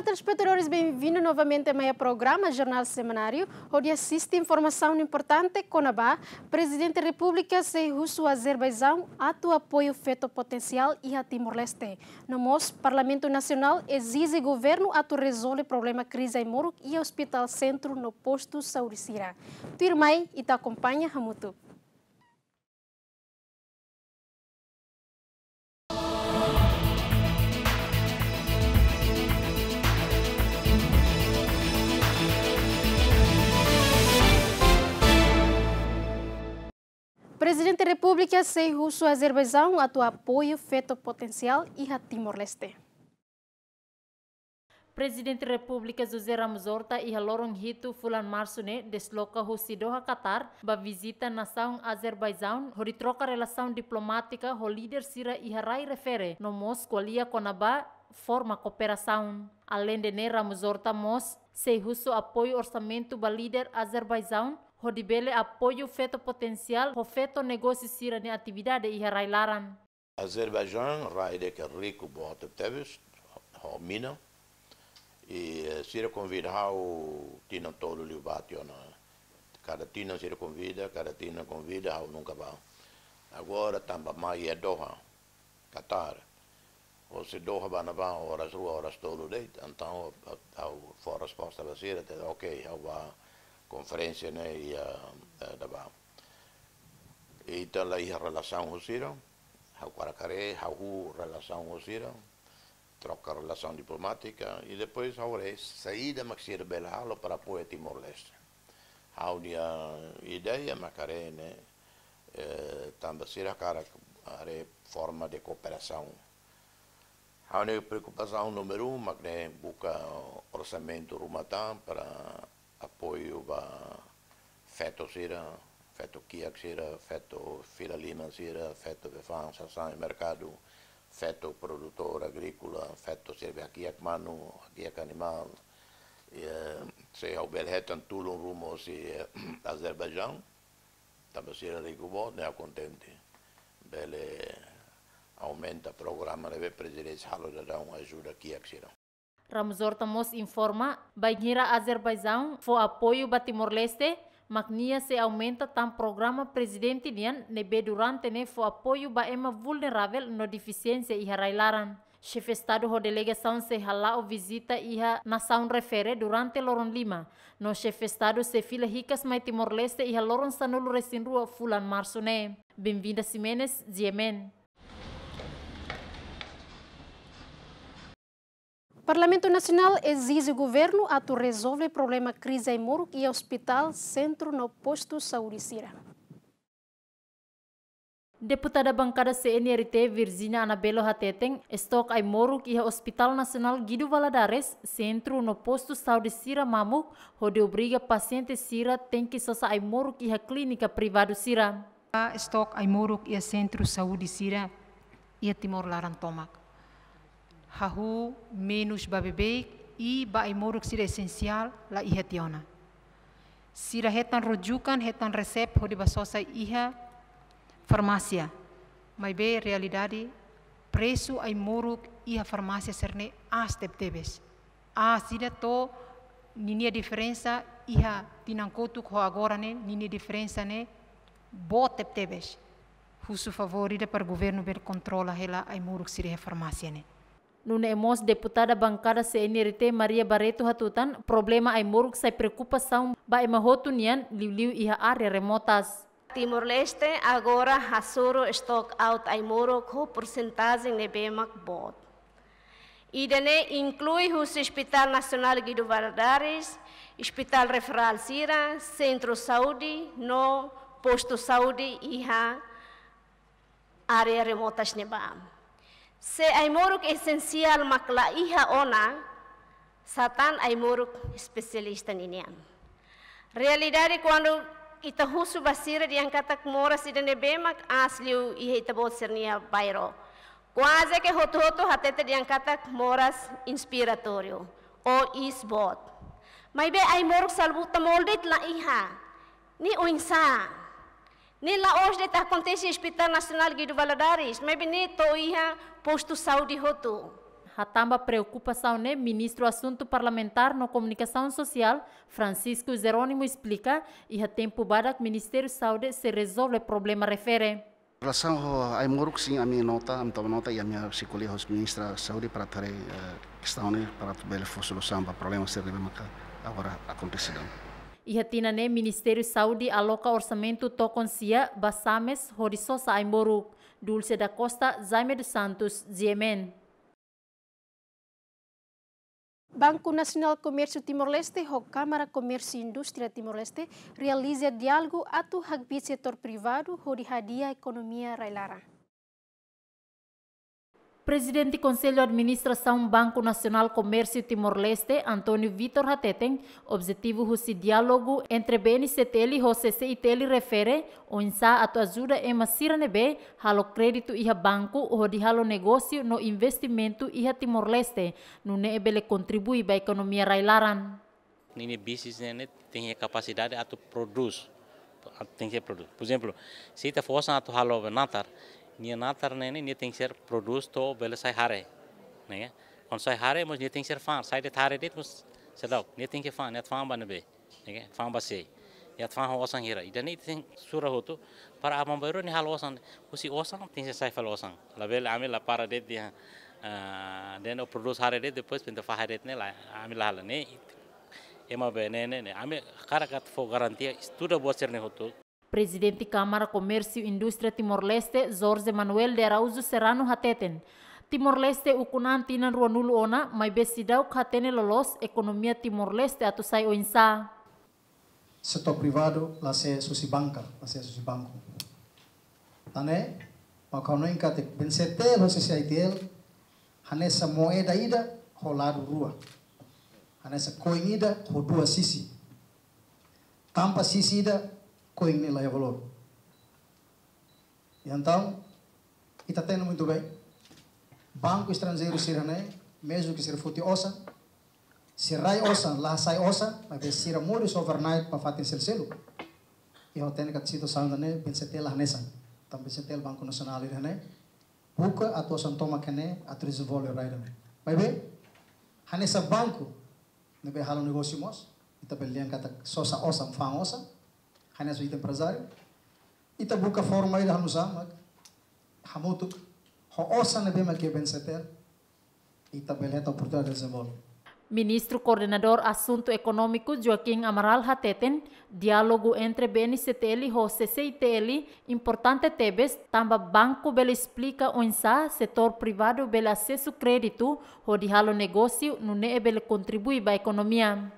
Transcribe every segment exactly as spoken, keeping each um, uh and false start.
Telespetadores, bem-vindo novamente a mais programa Jornal Semanáriu, hodi asiste informasaun importante kona-ba Prezidente Repúblika sei husu Azerbaijaun atu apoiu feto potensiál iha Timor-Leste. No mós Parlamentu Nasionál ezije governu atu rezolve problema krize ai-moruk iha ospitál sentru no postu saúde sira. Tuirmai, ita akompaña hamutuk. Prezidente Repúblika sei husu Azerbaijaun atu apoiu feto potensiál iha Timor-Leste. Prezidente Repúblika José Ramos Horta iha loron hitu fulan Marsu ne'e desloka husi Doha, Qatar, ba vizita nasaun Azerbaijaun, hodi troka relasaun diplomátika ho líder sira iha rai refere, no mós ko'alia kona-ba forma kooperasaun. Aleinde ne'e, Ramos Horta mós sei husu apoiu orsamentu ba líder Azerbaijaun, hodi bele apoiu feto potensiál ho feto negósiu sira-nia atividade iha rai laran. Azerbaijaun rai ida ke riku boot tebes, ho mina. I, eh, sira konvida ha'u tinan tolu liubá tiha ona. Kada tinan sira konvida, kada tinan konvida, ha'u nunka bá. Agora tanba mai iha Doha, Qatar. Husi Doha ba ne'ebá oras rua, oras tolu de'it, entaun ha'u fó resposta ba sira, dehan, "Ok, ha'u bá konferénsia ne'e iha, eh, ne'ebá." Ita la iha relasaun ho sira, ha'u hakarak haree, ha'u hahú relasaun ho sira, troka relasaun diplomátika, i depois ha'u haree saida mak sira bele halo para apoia Timor-Leste. Ha'u-nia ideia mak haree ne'e, eh, tanba sira hakarak haree forma de kooperasaun. Ha'u-nia preokupasaun númeru um mak ne'e buka orsamentu ruma tan para apoiu ba feto sira, feto kiak sira, feto fila liman sira, feto befaan sasán iha merkadu, feto produtór agríkola, feto sira be hakiak manu, hakiak animál. I, eh, se ha'u bele hetan tulun ruma husi, eh, Azerbaijaun, tanba sira riku boot, ne'e ha'u kontente. Bele aumenta programa ne'ebé prezidente halo daudaun ajuda kiak sira. Ramos Horta mós informa, bainhira Azerbaijaun fó apoiu ba Timor-Leste, mak nia sei aumenta tan programa prezidente nian ne'ebé durante ne'e fó apoiu ba ema vulneravel no defisiénsia iha rai laran. Xefe Estadu ho delegasaun sei hala'o vizita iha nasaun refere durante loron lima. No Xefe Estadu sei fila hikas mai Timor-Leste iha loron sanulu-resin-rua fulan Marsu ne'e. Benvinda Ximenes, G M N. Parlamentu Nasionál ezije governu atu rezolve problema krize ai-moruk iha ospitál sentru no postu saúde sira. Deputada Bankada C N R T, Virginia Anabelo hateten, estok ai-moruk iha Ospitál Nasionál Guido Valadares, sentru no postu saúde sira mamuk, hodi obriga pasiente sira tenke sosa ai-moruk iha klínika privadu sira. Estok ai-moruk iha sentru saúde sira iha Timor laran tomak. Hahú menus ba beibeik i ba ai-moruk sira esensiál la iha tiha ona. Sira hetan rujukan, hetan resep hodi bá sosa iha farmásia. Maibé realidade, presu ai-moruk iha farmásia sira-ne'e aas tebetebes. Aas ida to'o ninia diferensa iha tinan kotuk ho agora ne'e, ninia diferensa ne'e boot tebetebes. Husu favór ida para governu bele kontrola hela ai-moruk sira iha farmásia ne'e. Nune'e mós deputada Bankada C N R T Maria Barreto hatutan, problema ai-moruk sai preokupasaun ba ema hotu nian, liuliu iha área remotas. Timor-Leste agora hasoru stock out ai-moruk ho porsentajen ne'ebé mak boot. Ida-ne'e inklui husi Ospitál Nasionál Guido Valadares, ospitál referál sira, sentru saúde, no postu saúde iha área remotas ne'ebá. Se ai-moruk esensiál mak la iha ona, sá tan ai-moruk espesialista ninian. Realidade kuandu ita husu ba sira dehan katak moras ida-ne'ebé mak aas liu iha ita-boot sira-nia bairru. Kuaze ke hotu-hotu hatete dehan katak moras inspiratóriu ou iis boot. Maibé ai-moruk salbutamol de'it la iha. Ne'e oinsá? Ne'e la'ós de'it akontese Ospitál Nasionál Guido Valadares, maibé ne'e to'o iha postu saúde hotu. Hatán ba preokupasaun ne'e, Ministru Asuntu Parlamentár no Komunikasaun Sosiál, Francisco Jerónimo, esplika, iha tempu badak Ministériu Saúde sei rezolve problema refere. Relasaun ho ai-moruk, sin, ami nota, ami toma nota, i ami sei ko'alia ho Ministra Saúde para atu haree, eh, kestaun ne'e para atu bele fó solusaun ba problema sira ne'ebé maka agora akontese daudaun. Iha tinan ne'e, Ministériu Saúde aloka orsamentu tokon sia ba SAMES hodi sosa ai-moruk. Dulce da Costa, Jaime dos Santos, G M N. Banku Nasionál Komérsiu Timor-Leste ho Kámara Komérsiu Indústria Timor-Leste realiza diálogu atu hakbiit setór privadu hodi hadi'a ekonomia rai-laran. Prezidente Konsellu Administrasaun Banku Nasionál Komérsiu Timor-Leste, António Vitor, hateten, objetivu husi diálogu entre B N C T L ho C C I T L refere oinsá atu ajuda ema sira ne'ebé halo kréditu iha banku hodi halo negósiu no investimentu iha Timor-Leste, nune'e bele kontribui ba ekonomia rai-laran. Ninia bisnis ne'e, ne'e tenke iha kapasidade atu prodús, atu tenke prodús. Por ezemplu, se ita fó osan atu halo natar, nia natar ne'e, ne'e, nia tenke ser prodús to'o bele sai hare, ne'e? Kuandu sai hare, mós nia tenke ser fa'an, sai de'it hare de'it, mós seidauk, nia tenke fa'an, nia atu fa'an ba ne'ebé, ne'e? Fa'an ba sé, nia atu fa'an ho osan hira. Ida-ne'e ita tenke sura hotu, para aban-bainrua nia halo osan, husi osan tenke sai fali osan. Labele ami la para de'it iha, ah, dehan ó prodús hare de'it, depois pinta fa'an hare de'it ne'e lae, ami la halo ne'e. Ema be ne'e, ne'e, ne'e. Ami hakarak atu fó garantia, estuda buat sira-ne'e hotu. Prezidente Kámara Komérsiu Indústria Timor-Leste, Jorge Manuel de Araújo Serrano, hateten, Timor-Leste ukun an tinan ruanulu ona, maibé seidauk hatene loloos ekonomia Timor-Leste atu sai oinsá. Setór privadu la asesu husi banka, la asesu husi banku. Tan ne'e, mak ha'u hanoin katak B N C T L ho C C I T L hanesan moeda ida ho ladu rua. Hanesan koin ida ho dua sisi. Tanba sisi ida, koin ne'e la iha valór. Entaun, ita hatene muitu bem. Banku estranjeiru sira-ne'e, mezmu ke sira foti osan, sira rai osan, la sai osan, maibé sira moris overnight ba fatin seluk-seluk. I ha'u hatene katak situasaun ida-ne'e B N C T L la hanesan. Tanba B N C T L Banku Nasionál ida-ne'e buka atu osan tomak iha ne'e atu dezenvolve rai ida-ne'e. Maibé, hanesan banku ne'ebé halo negósiu mós, ita bele dehan katak sosa osan, fa'an osan, hanesan ita emprezáriu, ita buka forma ida hanu'usá mak hamutuk ho osan ne'ebé mak iha B N C T L, ita bele hetan oportunidade dezenvolve. Ministru Koordenadór Asuntu Ekonómiku Joaquim Amaral hateten, diálogu entre B N C T L ho C C I T L importante tebes, tanba banku bele esplika oinsá setór privadu bele asesu kréditu hodi halo negósiu, nune'e bele kontribui ba ekonomia.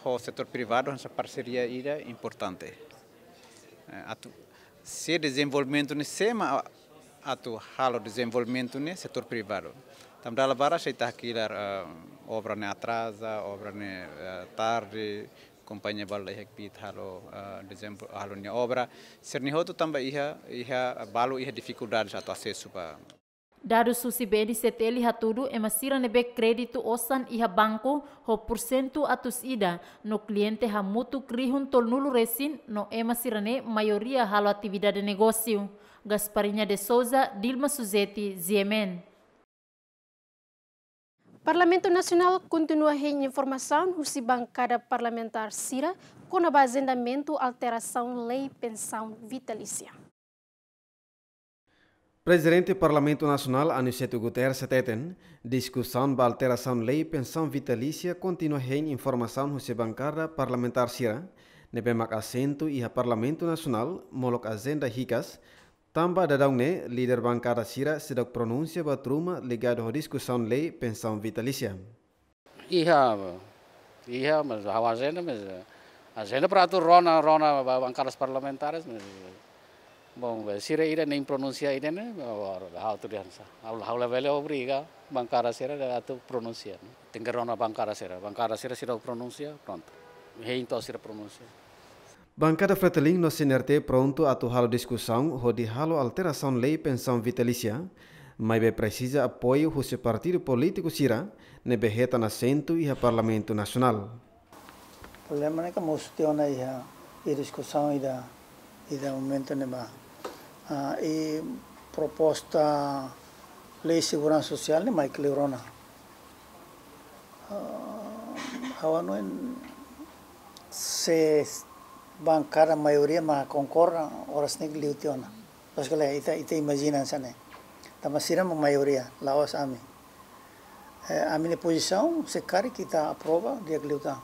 Ho setór privadu hanesan parseria ida importante. Eh, atu, se dezenvolvimentu ne'e, sé mak atu halo dezenvolvimentu ne'e, setór privadu. Tanba dala barak se ita hakilar, eh, obra ne'e atraza, obra ne'e, eh, tarde, kompañia balu la iha kbiit halo, eh, dezenvol-, halo nia obra. Sira-ne'e hotu tanba iha, iha balu iha difikuldade atu asesu ba. Dadus husi B N C T L hatudu ema sira ne'ebé kréditu osan iha banku ho pursentu atus ida, no kliente hamutuk rihun tolunulu resin, no ema sira-ne'e maioria halo atividade negósiu. Gasparinha de Souza, Dilma Suzeti, G M N. Parlamentu Nasionál kontinua hein informasaun husi bankada parlamentár sira kona-ba ajendamentu alterasaun lei pensaun vitalísia. Prezidente Parlamentu Nasionál, Aniceto Guterres, hateten, diskusaun ba alterasaun lei pensaun vitalísia kontinua hein informasaun husi bankada parlamentár sira ne'ebé mak asentu iha Parlamentu Nasionál, molok ajenda hikas, tanba daudaun ne'e líder bankada sira seidauk pronunsia buat ruma ligadu ho diskusaun lei pensaun vitalísia. Iha, iha, mas ha'u ajenda, mas, eh, ajenda para atu rona, rona ba-, bankadas parlamentares, mas, bom, sira ida-ne'e pronunsia ida-ne'e, ha'u atu dehan sá. Ha'u, ha'u labele obriga bankada sira atu pronunsia, ne'e. Tenke rona bankada sira, bankada sira seidauk pronunsia, prontu. Hein to'o sira pronunsia. Bankada Fretilin no C N R T prontu atu halo diskusaun hodi halo alterasaun lei pensaun vitalísia, maibé presiza apoiu husi partidu polítiku sira ne'ebé hetan asentu iha Parlamentu Nasionál. Problema ne'e ke mós tiha ona iha, iha diskusaun ida, ida momentu ne'ebá. Ah, i proposta lei seguransa sosiál ne'e mai kleur ona. Ah, ha'u hanoin se bankada maioria mak konkorda, oras ne'e liu tiha ona. Loos ka lae, ita, ita imajina hanesan ne'e. Tanba sira mak maioria, la'ós ami. Eh, ami-nia pozisaun, se karik ita aprova, di'ak liután.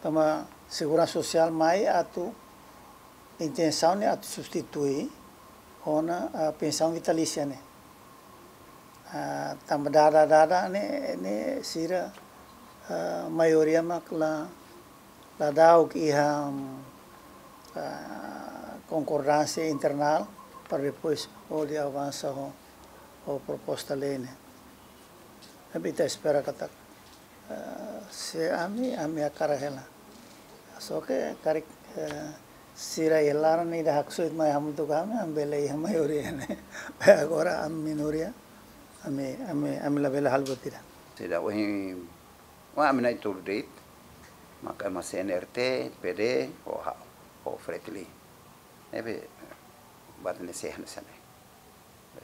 Tanba seguransa sosiál mai atu, intensaun ne'e atu substitui ona, ah, pensaun vitalísia ne'e. Ah, tanba dada, dada ne'e, ne'e sira, ah, maioria mak la, la da'uk iha, ah, konkordánsia internál para depois hodi avansa ho, ho proposta lei ne'e. Tapi ita espera katak, eh, se ami, ami hakarak hela. Só ke karik, eh, sira iha laran ida haksoit mai hamutuk ho ami, ami bele iha maioria ne'e. Agora ami minoria, ami, ami, ami labele halo buat ida. Sira ohin, wa ami na'in-tolu de'it, maka ema C N R T, P D, ho ha'u, ho Fretilin. Ne'ebé, buat ne'e sei hanesan ne'e.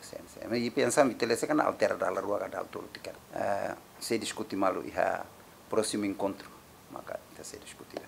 Sen, sen. Mas pensaun vitalísia kan altera dala rua ka dala tolu tiha. Eh, sei diskute malu iha prósimu enkontru, maka ita sei diskute.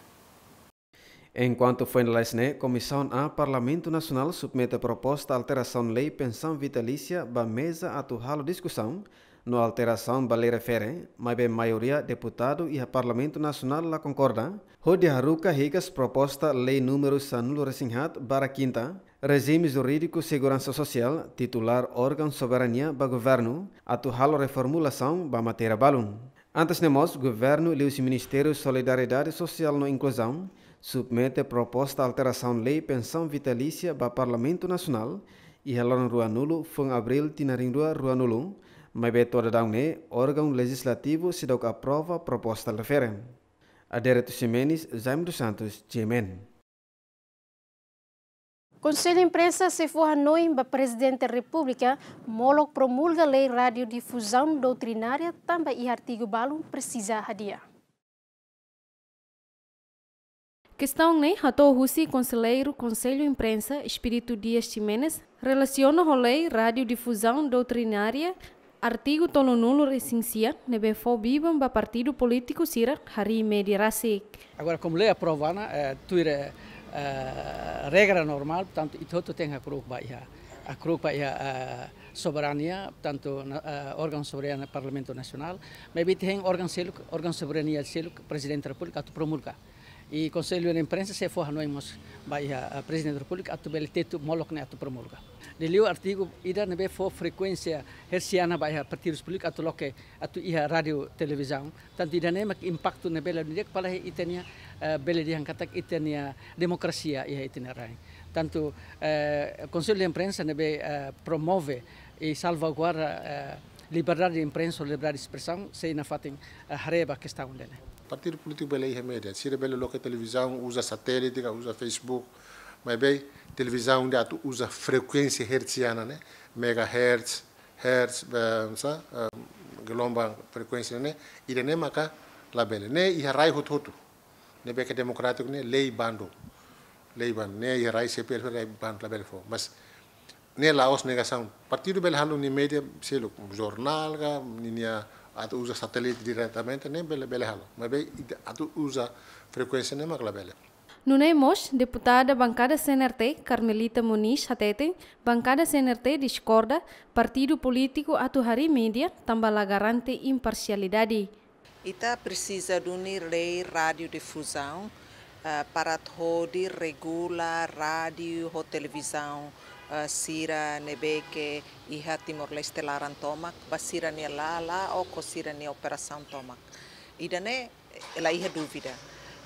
Enkuantu foin lalais ne'e, Komisaun A Parlamentu Nasionál submete proposta alterasaun lei pensaun vitalísia ba meza atu halo diskusaun, no alterasaun ba lei refere, maibé maioria deputadu iha Parlamentu Nasionál la konkorda, hodi haruka hikas proposta lei númeru sanulu-resin-haat barra kinta, rejime jurídiku seguransa sosiál, titulár órgaun soberania ba governu, atu halo reformulasaun ba matéria balun. Antes ne'e mós, governu liuhusi Ministériu Solidariedade Sosiál no Inkluzaun, submete proposta alterasaun lei pensaun vitalísia ba Parlamentu Nasionál, iha loron ruanulu, fulan Abríl, tinan rihun rua ruanulu, maibé to'o daudaun ne'e, órgaun lejizlativu seidauk aprova proposta refere. Adérito Ximenes, Jaime dos Santos, G M N. Konsellu Imprensa sei fó hanoin ba Prezidente Repúblika molok promulga lei radiodifuzaun doutrinária tanba iha artigu balun presiza hadi'a. Kestaun ne'e hato'o husi Konselleiru Konsellu Imprensa, Expedito Dias Ximenes, relasiona ho lei radiodifuzaun doutrinária, artigu tolunulu-resin-sia, ne'ebé fó biban ba partidu polítiku sira harii média rasik. Agora, komu lei aprova ona, eh, tuir, eh, regra normál, portantu, ita hotu tenke hakru'uk ba iha, hakru'uk ba iha, eh, soberania, portantu, na, eh, órgaun soberania Parlamentu Nasionál, maibé ita hein órgaun seluk, órgaun soberania seluk, Prezidente Repúblika atu promulga. I Konsellu Imprensa sei fó hanoin mós ba iha, eh, Prezidente Repúblika atu bele tetu molok ne'e atu promulga. Liuliu artigu ida ne'ebé fó frekuénsia hertziana ba iha partidus polítiku atu loke, atu iha rádiu televizaun. Tantu ida-ne'e mak impaktu ne'ebé la di'ak ba iha ita-nia, eh, bele dehan katak ita-nia demokrasia iha ita-nia rain. Tantu, eh, Konsellu Imprensa ne'ebé, eh, promove i salvaguarda, eh, liberdade de imprensa, liberdade de espresaun, sei nafatin, eh, haree ba kestaun ida-ne'e. Partidu polítiku bele iha média, sira bele loke televizaun, uza satélite, ka uza Facebook, maibé televizaun ida atu uza frekuénsia hertziana ne'e, megahertz, hertz, be, sa, eh, gelombang frekuénsia ne'e, ida-ne'e maka labele. Ne'e iha rai hotu-hotu. Ne'ebé ke demokrátiku ne'e lei bandu. Lei bandu. Ne'e iha rai C P L, lei bandu labele fó. Mas ne'e la'ós negasaun. Partidu bele halo nia média seluk, jornál ka, ninia atu uza satélite diretamente, ne'e bele, bele halo. Maibé atu uza frekuénsia ne'e mak labele. Nune'e mós, deputada bankada C N R T, Carmelita Moniz hateten, bankada C N R T diskorda partidu polítiku atu harii média tanba la garante imparsialidade. Ita presiza duni lei radiodifuzaun, eh, para atu hodi regula rádiu ho televizaun, eh, sira ne'ebé ke iha Timor-Leste laran tomak, ba sira-nia la, la'o ho sira-nia operasaun tomak. Ida-ne'e la iha dúvida.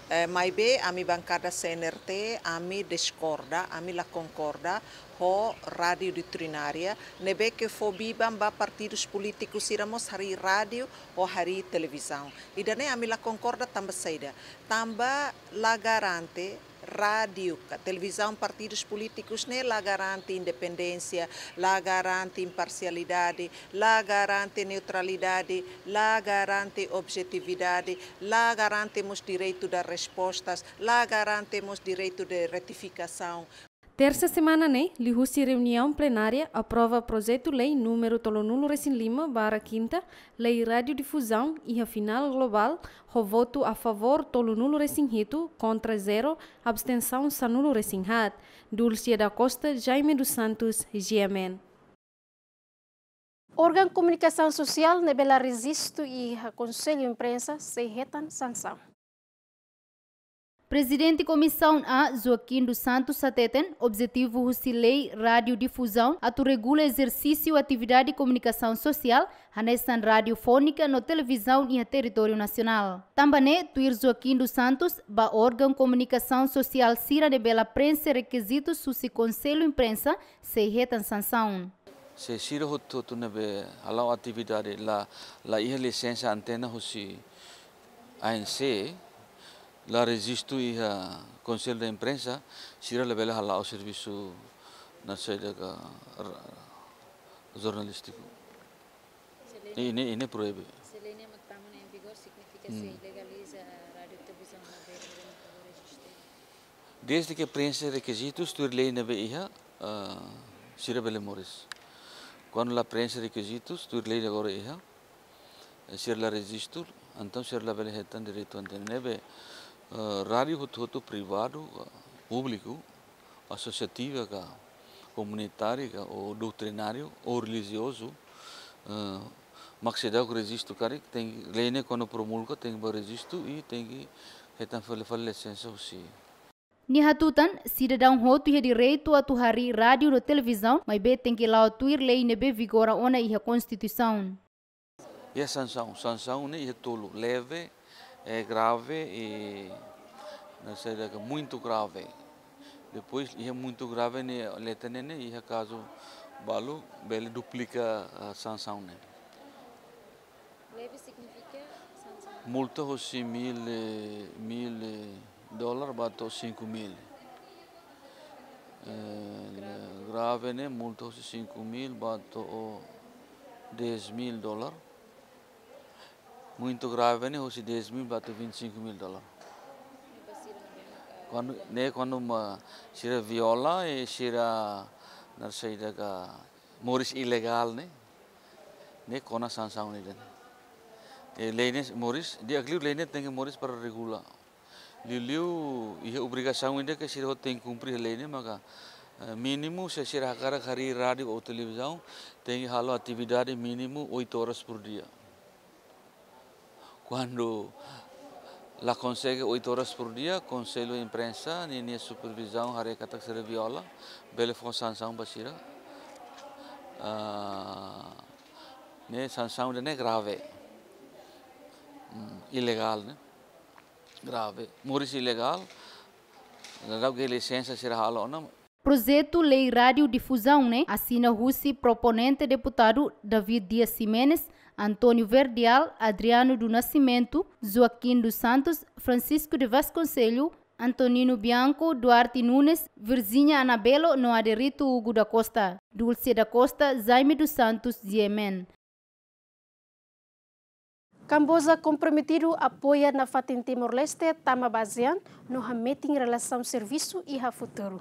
Eh, maibé ami bankada C N R T, ami diskorda, ami la konkorda ho rádiu doutrinária, ne'ebé ke fó biban ba partidus polítikus sira mós harii rádiu ou harii televizaun. Ida-ne'e ami la konkorda tanba saida? Tanba la garante rádiu ka televizaun partidus polítikus ne'e la garante independénsia, la garante imparsialidade, la garante neutralidade, la garante objetividade, la garante mós direitu de respostas, la garante mós direitu de retifikasaun. Tersa semana ne'e, liuhusi reuniaun plenária aprova projetu lei númeru tolunulu-resin-lima barra kinta, Lei Radiodifuzaun, iha final globál, ho votu a favór tolunulu-resin-hitu, kontra zero, abstensaun sanulu-resin-haat. Dulcia da Costa, Jaime dos Santos, G M N. Órgaun komunikasaun sosiál ne'ebé la rejistu iha Konsellu Imprensa sei hetan sansaun. Prezidente Komisaun A, Joaquim dos Santos hateten, objetivu husi Lei Radiodifuzaun atu regula ezersísiu atividade komunikasaun sosiál, hanesan radiofónika no televizaun iha territóriu nasionál. Tanba ne'e, tuir Joaquim dos Santos, ba órgaun komunikasaun sosiál sira ne'ebé la prenxe rekizitus husi Konsellu Imprensa, sei hetan sansaun. Se sira hotu-hotu ne'ebé hala'o atividade la, la iha lisensa antena husi A N C, la rejistu iha Konsellu da Imprensa, sira labele hala'o servisu nasaida ka ra-, jornalístiku. Se lei ne'e, ne'e, ne'e proíbe. Se lei ne'e mak tama ona em vigor, signifika se legaliza rádiu televizaun ne'ebé, ne'ebé mak rejistu. Desde ke prenxe rekizitus tuir lei ne'ebé iha, ah, sira bele moris. Kuandu la prenxe rekizitus tuir lei agora iha, eh, sira la rejistu, entaun sira labele hetan direitu antena ne'ebé, eh, rádiu hotu-hotu privadu, eh, públiku, asosiativa ka, komunitária ka, ou doutrináriu, ou relijiozu, eh, mak seidauk rejistu karik, tenke, lei ne'e kuandu promulga, tenke ba rejistu i tenke hetan fali, fali lisensa husi. Nia hatutan, sidadaun hotu iha direitu atu harii rádiu no televizaun, maibé tenke la'o tuir lei ne'ebé vigora ona iha Konstituisaun. Iha sansaun, sansaun ne'e iha tolu, leve, eh, grave i, nasaida ka, muito grave. Depois iha muito grave ne'e, letra ne'e, ne'e iha kazu balu bele duplika, ah, sansaun ne'e. Leve signifika sansaun? Multa husi mil, eh, mil, eh, dólar ba to'o cinco mil. Eh, grave ne'e multa husi cinco mil ba to'o dez mil dólar. Muito grave ne'e husi dez mil ba to'o vinte e cinco mil dólar. Kuandu, ne'e kuandu mak sira viola i sira nasaida ka moris ilegál ne'e, ne'e kona sansaun ida-ne'e. I lei ne'e moris, di'ak liu lei ne'e tenke moris para regula. Liuliu iha obrigasaun ida ke sira hotu tenke kumpre lei ne'e maka, eh, mínimu se sira hakarak harii rádiu ou televizaun, tenke halo atividade mínimu oito horas por dia. Kuandu la konsege oito horas por dia, Konsellu Imprensa ninia supervizaun haree katak sira viola, bele fó sansaun ba sira. Ah, ne'e sansaun ida-ne'e grave. Hmm, ilegál, ne'e. Grave. Moris ilegál. Ladau ke lisensa sira halo ona. Projetu Lei Radiodifuzaun ne'e asina husi proponente deputadu David Dias Ximenes, António Verdial, Adriano do Nascimento, Joaquim dos Santos, Francisco de Vasconcelos, Antonino Bianco, Duarte Nunes, Virginia Anabelo no Aderito Hugo da Costa, Dulce da Costa, Jaime dos Santos, G M N. Kamboja komprometidu apoia nafatin Timor-Leste tama ba ASEAN no hametin relasaun servisu iha futuru.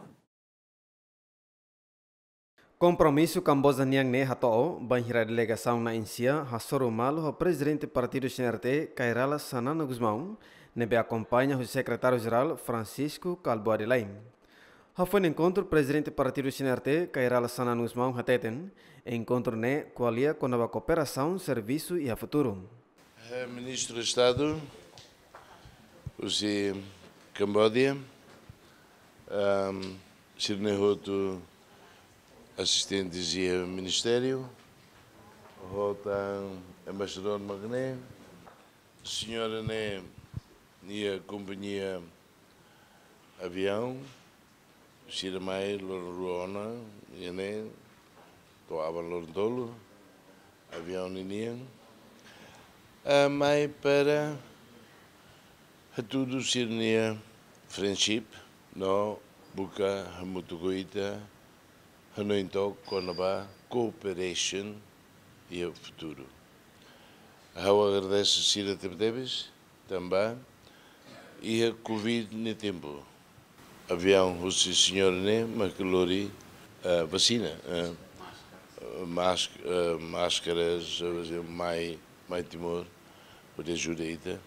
Kompromisu Kamboja nian ne'e hato'o, bainhira delegasaun na'in-sia hasoru malu ho Prezidente Partidu C N R T, Kay Rala Xanana Gusmão, ne'ebé akompaña ho Sekretáriu-Jerál Francisco Kalbuadi Laim. Hafoin enkontru, Prezidente Partidu C N R T, Kay Rala Xanana Gusmão hateten, enkontru ne'e ko'alia kona-ba kooperasaun servisu iha futuru. Eh, Ministru Estadu husi Kamboja, ehm, sira-ne'e hotu asistentes iha ministériu, ho tan embaixadór mak ne'e, señora ne'e nia kompañia aviaun, sira mai loron rua ona, iha ne'e, to'o aban loron tolu, aviaun ninian. Ah, mai para hatudu sira-nia friendship, no buka hamutuk ho ita, hanoin took kona-ba cooperation iha futuru. Ha'u agradese sira tebetebes, tanba iha Covid nia tempu, Aviaun husi señór ne'e mak lori, eh, vasina, eh, mask-, eh, máskaras, eh, mai, mai Timor, hodi ajuda ita.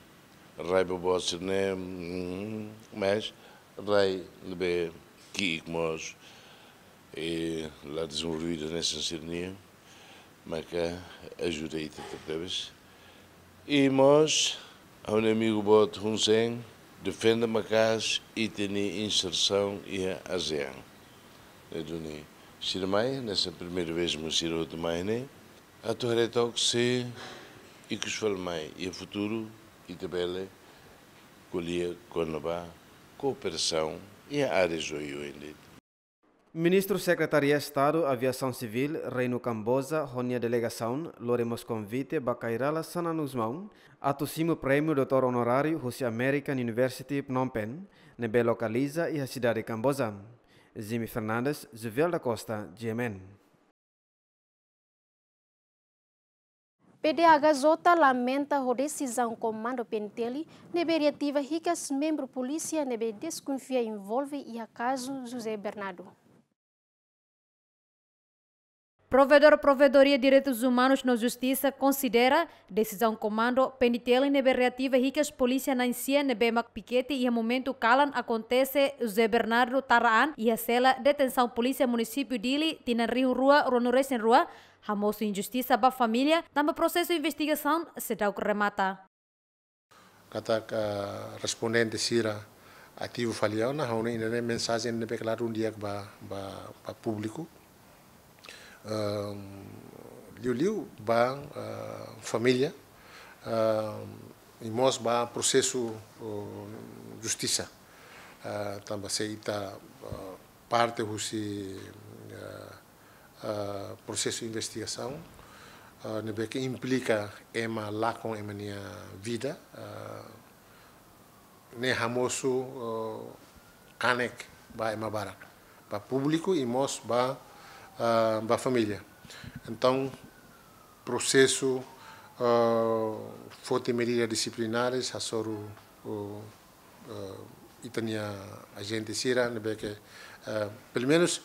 Rai boboot sira-ne'e, mm, mas rai ne'ebé ki'ik mós, eh, la dezenvolvidu hanesan sira-nian, maka ajuda ita tebetebes. I mós, ha'u-nia amigu boot Hun Sen, defende maka'as ita-nia insersaun iha ASEAN. Ne'e duni sira mai, hanesan primeira vez mak sira hotu mai ne'e, atu haree took se ikus fali mai iha futuru ita bele ko'alia kona-ba kooperasaun iha áreas oioin de'it. Ministru Sekretaria Estadu Aviasaun Sivíl, Reinu Kamboja, ho nia delegasaun, lori mós konvite ba Khairala Xanana Gusmão, atu simu prémiu doutór onoráriu husi American University Phnom Penh, ne'ebé lokaliza iha sidade Kamboja. Jimmy Fernandes, Juvel da Costa, G M N. P D H J lamenta ho desizaun Komandu P N T L ne'ebé reativa hikas membru polísia ne'ebé deskonfia envolve iha kazu José Bernardo. Provedór Provedoria Direitus Umanus no Justisa konsidera desizaun Komandu P N T L ne'ebé reativa hikas polísia na'in-sia ne'ebé mak pikete iha momentu kalan akontese José Bernardo Taraan iha sela detensaun polísia munisípiu Dili tinan rihun rua ruanulu-resin-rua, hamosu injustisa ba família, tanba prosesu investigasaun seidauk remata. Katak respondente sira ativu fali ona, ha'u hanoin ne'e mensajen ne'ebé klaru di'ak ba, ba, ba públiku. Ehm, liuliu ba, eh, família, ehm, i mós ba prosesu, eh, justisa. Eh, tanba se ita, eh, parte husi, eh, eh, prosesu investigasaun, eh, ne'ebé ke implika ema lakon ema nia vida, eh, ne'e hamosu, eh, kanek ba ema barak, ba públiku i mós ba, eh, ba família. Entaun, prosesu, eh, foti medida disiplinares hasoru, eh, eh, ita-nia ajente sira ne'ebé ke, eh, pelumenus,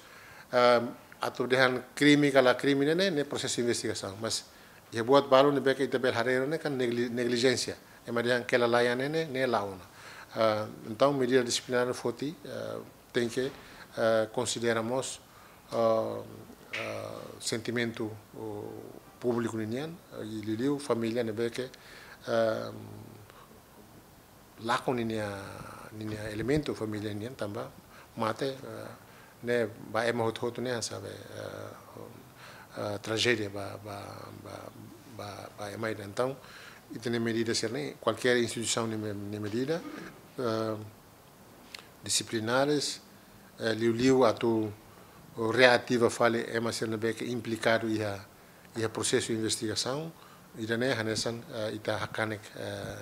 eh, atu dehan krime ka la krime ne'e, ne'e prosesu investigasaun. Mas iha buat balu ne'ebé ke ita bele haree ne'e kan negli-, neglijénsia. Ema dehan kelalaian ne'e, ne'e, ne'e la'o ona. Eh, entaun, medida disiplinár foti, eh, tenke, eh, konsidera mós, eh, eh, sentimentu, eh, públiku ninian, eh, i liuliu família ne'ebé ke, eh, lakon ninia, ninia elementu família nian tanba mate, eh, ne'e ba ema hotu-hotu ne'e hanesan be, eh, eh, trajédia ba, ba, ba, ba, ba ema ida. Entaun, ita-nia medida sira-ne'e, kualkér instituisaun nia me-, nia medida, eh, disiplinares, eh, liuliu atu reativa fali ema sira ne'ebé ke implikadu iha, iha prosesu investigasaun, ida-ne'e hanesan, eh, ita hakanek, eh,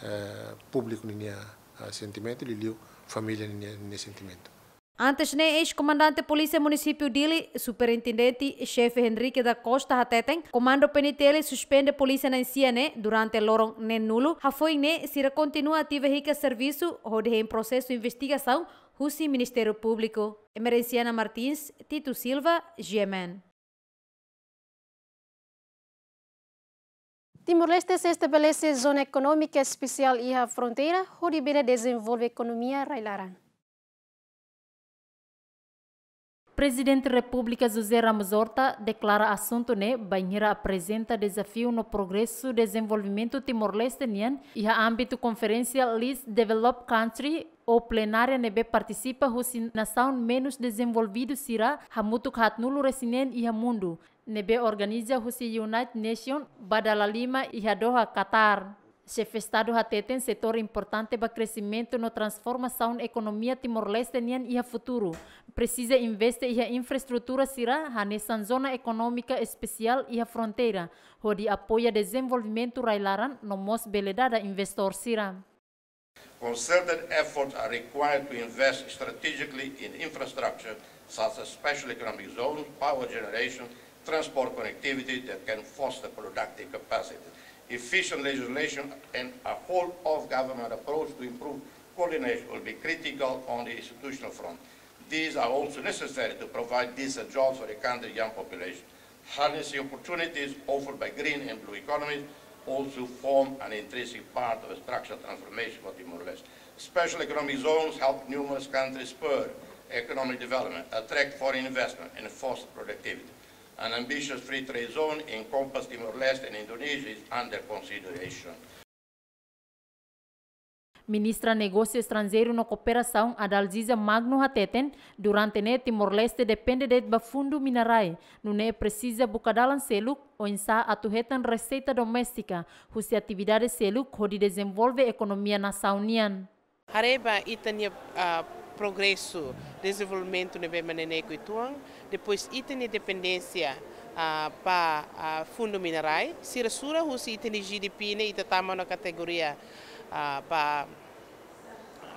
eh, públiku ninia, eh, sentimentu, liuliu família ninia, ninia sentimentu. Antes ne'e, eis-komandante Polísia Munisípiu Dili, Superintendente Xefe Henrique da Costa hateten, Komandu P N T L suspende polísia na'in-sia ne'e durante loron neenulu, hafoin ne'e sira kontinua ativa hikas servisu hodi hein prosesu investigasaun husi Ministériu Públiku. Emerenciana Martins, Tito Silva, G M N. Timor-Leste sei estabelese zona ekonómika espesiál iha fronteira, hodi bele dezenvolve ekonomia rai-laran. Prezidente Repúblika José Ramos Horta deklara asuntu ne'e bainhira aprezenta dezafiu no progresu dezenvolvimentu Timor-Leste nian iha ámbitu konferénsia Least Developed Country ou plenária ne'ebé partisipa husi nasaun menus dezenvolvidu sira hamutuk haatnulu-resin-neen iha mundu, ne'ebé organiza husi United Nations ba dala lima iha Doha, Qatar. Xefe Estadu hateten setór importante ba kresimentu no transformasaun ekonomia Timor-Leste nian iha futuru presiza investe iha infraestrutura sira hanesan zona ekonómika espesiál iha fronteira, hodi apoia dezenvolvimentu rai-laran no mós bele dada investór sira. Concerted efforts are required to invest strategically in infrastructure such as special economic zones, power generation, transport connectivity that can foster productive capacity, efficient legislation, and a whole-of-government approach to improve Coordination will be critical on the institutional front. These are also necessary to provide decent jobs for the country's young population. Harnessing opportunities offered by green and blue economies also form an intrinsic part of a structural transformation for Timor-Leste. Special economic zones help numerous countries spur economic development, attract foreign investment, and foster productivity. An ambitious free trade zone encompassing Timor-Leste and Indonesia is under consideration. Ministra Negósiu Estranjeiru no Kooperasaun Adalgisa Magno hateten, durante ne'e Timor-Leste depende de'it ba fundu mina-rai, nune'e presiza buka dalan seluk oinsá atu hetan reseita doméstika husi atividade seluk hodi dezenvolve ekonomia nasaun nian. Haree ba ita-nia, ah, progresu, dezenvolvimentu ne'ebé mak neineik uitoan, depois ita-nia dependénsia, ah, ba, ah, fundu mina-rai, sira sura husi ita-nia G D P ne'e ita tama ona kategoria, ah, ba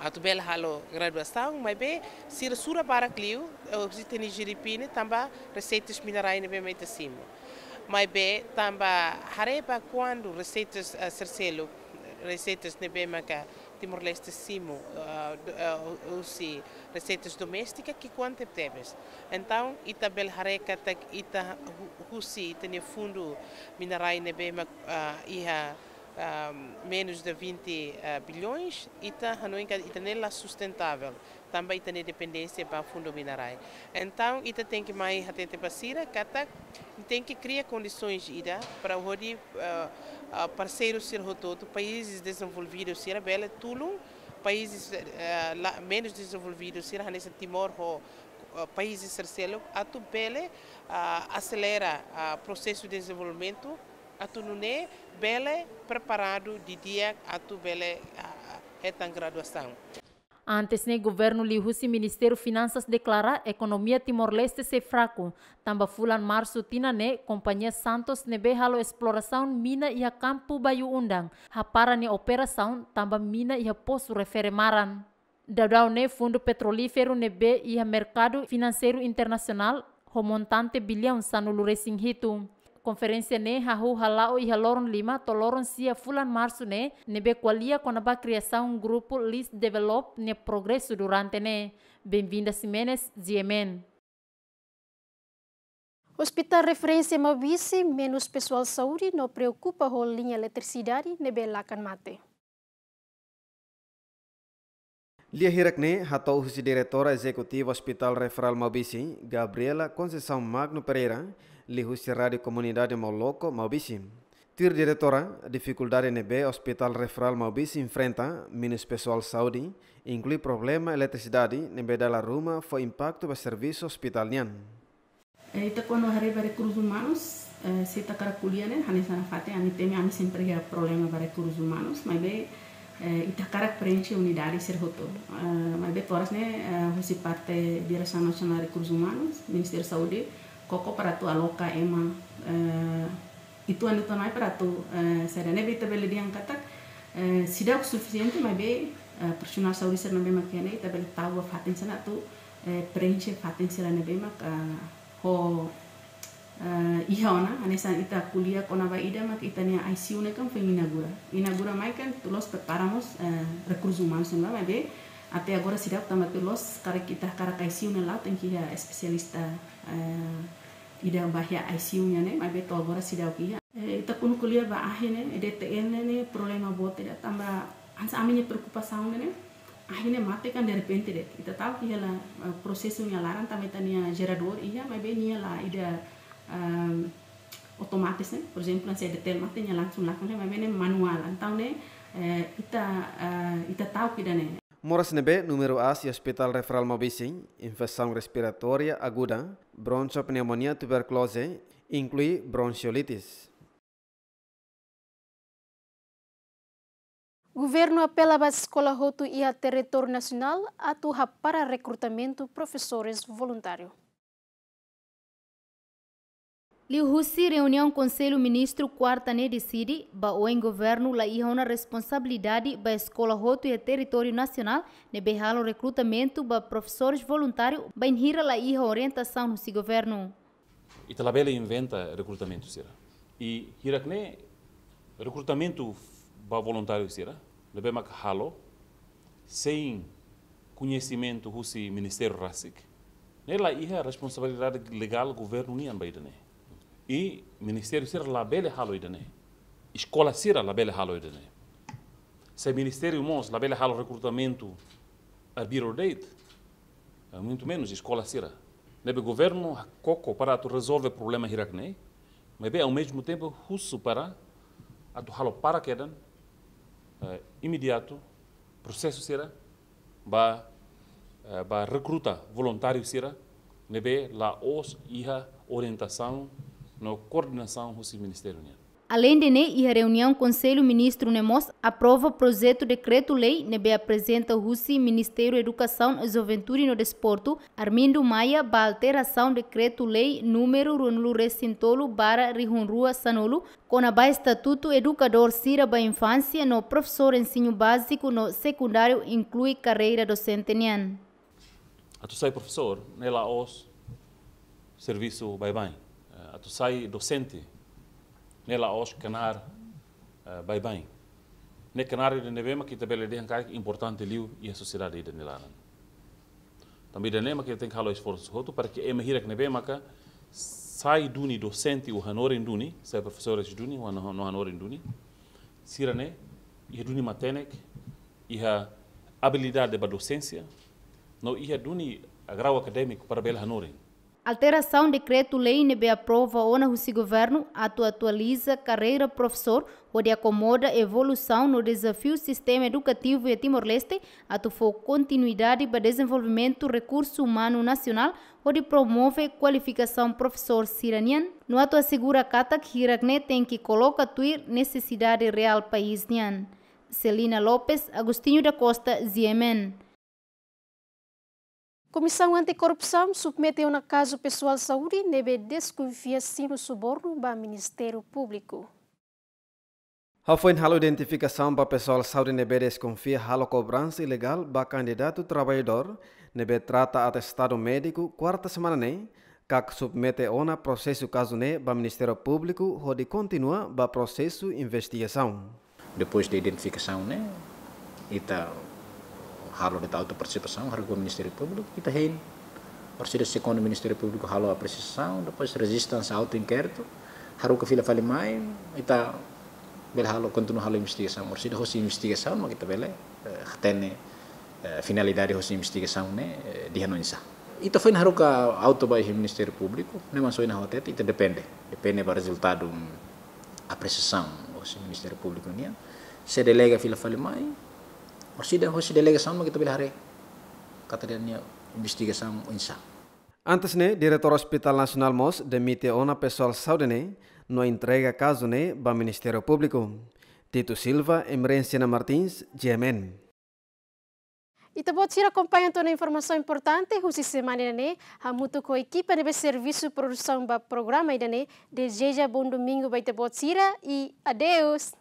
atu bele halo graduasaun, maibé sira sura barak liu, eh, husi ita-nia G D P ne'e tanba reseitas mina-rai ne'ebé mak ita simu. Maibé tanba haree ba kuandu reseitas, eh, sira seluk, reseitas ne'ebé maka Timor-Leste simu, eh, do-, eh, husi reseitas doméstika ki'ikoan tebetebes. Entaun, ita bele haree katak ita hu-, husi ita-nia fundu mina-rai ne'ebé mak, eh, iha, ah, menus de vinte, ah, bilhões, ita hanoin katak ita-nia la sustentável, tanba ita-nia dependénsia ba fundu mina-rai. Entaun, ita tenke mai hatete ba sira katak tenke kria kondisoens ida para hodi, ah, ah, parseiru sira hotu-hotu, países dezenvolvidu sira bele tulun países, eh, la, menus dezenvolvidu sira hanesan Timor ho, eh, países sira seluk atu bele, ah, aselera, ah, prosesu dezenvolvimentu atu nune'e bele preparadu didi'ak atu bele, ah, hetan graduasaun. Antes ne'e, governu liuhusi Ministériu Finansas deklara ekonomia Timor-Leste sei fraku, tanba fulan Marsu tinan ne'e, kompañia Santos ne'ebé halo esplorasaun mina iha kampu Bayu Undang, hapara nia operasaun tanba mina iha posu refere maran. Daudaun ne'e, fundu petrolíferu ne'ebé iha merkadu finanseiru internasionál ho montante biliaun sanulu-resin-hitu. Konferénsia ne'e hahú hala'o iha loron lima to'o loron sia fulan Marsu ne'e, ne'ebé ko'alia kona-ba kriasaun grupu Least Developed nia progresu durante ne'e. Benvinda Ximenes, G M N. Hospital Referénsia Maubisse menus pesoál saúde no preokupa ho liña eletrisidade ne'ebé lakan mate. Lia hirak ne'e hato'o husi Diretora Ezekutiva Hospital Referral Maubisse, Gabriela Conceição Magno Pereira, liuhusi Rádiu Komunidade Moloko, Maubisse. Tuir Diretora, difikuldade ne'ebé Hospital Referral Maubisse enfrenta, menus pesoál saúde, inklui problema eletrisidade ne'ebé dala ruma fó impaktu ba servisu hospital nian. Eh, ita kuandu haree ba rekursus umanus, eh, se ita hakarak ko'alia ne'e, hanesan nafatin, ami temi, ami sempre iha problema ba rekursus umanus, maibé, eh, ita hakarak preenxe unidade sira hotu. Eh, maibé toras ne'e, eh, husi parte Diresaun Nasionál Rekursus Umanus, Ministériu Saúde, koko para atu aloka ema, eh, uitoan-uitoan mai para atu, eh, saida, ne'ebé ita bele dehan katak, eh, seidauk sufisiente, maibé, eh, profisionál saúde sira ne'ebé mak iha ne'e, ita bele tau ba fatin sira atu, eh, preenxe fatin sira ne'ebé mak, eh, ho, eh, iha ona, hanesan ita ko'alia kona-ba ida mak ita-nia I C U ne'e kan foin inaugura. Inaugura mai kan tuir loloos prepara mós, eh, rekursus umanus ne'ebá, maibé até agora seidauk tanba tuir loloos, karik ita hakarak I C U ne'e la'o tenke iha espesialista, eh, ida ba iha I C U nian ne'e, maibé to'o agora seidauk iha. Eh, ita kuandu ko'alia ba ahi ne'e, D T L ne'e, ne'e problema boot ida tanba hanesan ami-nia preokupasaun ne'e, ahi ne'e mate kan derrepente de'it. Ita ta'uk iha la, eh, prosesu nia laran tanba ita-nia jeradór iha, maibé nia la ida, ehm, otomatis ne'e. Por ezemplu, hanesan D T L mate nia langsung lakan ne'e, maibé ne'e manuál. Entaun ne'e, eh, ita, eh, ita ta'uk ida ne'e. Moras ne'ebé númeru aas iha Hospital Referral Maubisse, infesaun respiratória aguda, bronkiopneumonia, tuberkulose, inklui bronkiolitis. Governu apela ba eskola hotu iha territóriu nasionál atu hapara rekrutamentu profesores voluntáriu. Liuhusi reuniaun Konsellu Ministru kuarta ne'e deside, ba oin governu la iha ona responsabilidade ba eskola hotu iha territóriu nasionál, ne'ebé halo rekrutamentu ba profesores voluntáriu, bainhira la iha orientasaun husi governu. Ita labele inventa rekrutamentu sira. I hirak ne'e rekrutamentu ba voluntáriu sira, ne'ebé mak halo, sein koñesimentu husi ministériu rasik, ne'e la iha responsabilidade legál governu nian ba ida-ne'e. I ministériu sira labele halo ida-ne'e. Eskola sira labele halo ida-ne'e. Se ministériu mós labele halo rekrutamentu arbiru de'it, eh, muito menos eskola sira. Ne'ebé governu koko para atu rezolve problema hirak-ne'e, maibé ao mesmo tempo husu para atu halo para kedan, eh, imediatu prosesu sira ba, eh, ba rekruta voluntáriu sira ne'ebé la'ós iha orientasaun no koordenasaun husi ministériu nian. Aleinde ne'e, iha reuniaun Konsellu Ministru ne'e mós aprova projetu dekretu-lei ne'ebé aprezenta husi Ministériu Edukasaun, Juventude no Desportu, Armindo Maia, ba alterasaun dekretu-lei númeru ruanulu-resin-tolu barra rihun rua sanulu, kona-ba estatutu edukadór sira ba infánsia no profesór ensinu báziku no sekundáriu, inklui karreira dosente nian. Atu sai profesór, ne'e la'ós servisu baibain. Eh, atu sai dosente, ne'e la'ós knaar, eh, baibain. Ne'e knaar ida ne'ebé mak ita bele dehan katak importante liu iha sosiedade ida-ne'e laran. Tanba ida-ne'e mak ita tenke halo esforsu hotu para ke ema hirak ne'ebé maka sai duni dosente ou hanorin duni, sai profesores duni ou hano-, no hanorin duni, sira-ne'e iha duni matenek, iha abilidade ba dosénsia, no iha duni grau akadémiku para bele hanorin. Alterasaun dekretu-lei ne'ebé aprova ona husi governu atu atualiza karreira profesór, hodi akomoda evolusaun no dezafiu sistema edukativu iha Timor-Leste, atu fó kontinuidade ba dezenvolvimentu rekursu umanu nasionál, hodi promove kualifikasaun profesór sira-nian, no atu asegura katak hirak-ne'e tenke koloka tuir nesesidade reál país nian. Celina Lopes, Agostinho da Costa, G M N. Komisaun Anti-Korrupsaun submete ona kazu pesoál saúde ne'ebé deskonfia simu subornu ba Ministériu Públiku. Hafoin halo identifikasaun ba pesoál saúde ne'ebé deskonfia halo kobransa ilegál ba kandidatu traballadór ne'ebé trata atestadu médiku, kuarta semana ne'e, KAK submete ona prosesu kazu ne'e ba Ministériu Públiku hodi kontinua ba prosesu investigasaun. Depois de identifikasaun ne'e, ita halo de'it autu partisipasaun, haruka Ministériu Públiku, ita hein. Orsida segundu Ministériu Públiku halo apresiasaun, depois rejista hanesan autu inkéritu, haruka fila fali mai, ita bele halo, kontinua halo investigasaun. Orsida hosi investigasaun mak ita bele, eh, hatene, eh, finalidade hosi investigasaun ne'e, eh, di'ak no oinsá. Ita foin haruka autu ba iha Ministériu Públiku, ne'e mak ohin ha'u hatete, ita depende. Depende ba rezultadu, mm, apresiasaun hosi Ministériu Públiku nian. Se delega fila fali mai, orsida hosi delegasaun mak ita bele haree katak nia investigasaun oinsá. Antes ne'e, Diretór Hospitál Nasionál mós demite ona pesoál saúde ne'e, no entrega kazu ne'e ba Ministériu Públiku. Tito Silva, Emerenciana Martins, G M N. Ita-boot sira akompaña to'o ona informasaun importante husi semana ida-ne'e, hamutuk ho ekipa ne'ebé servisu produsaun ba programa ida-ne'e, dezeja bom domingu ba ita-boot sira i adeus.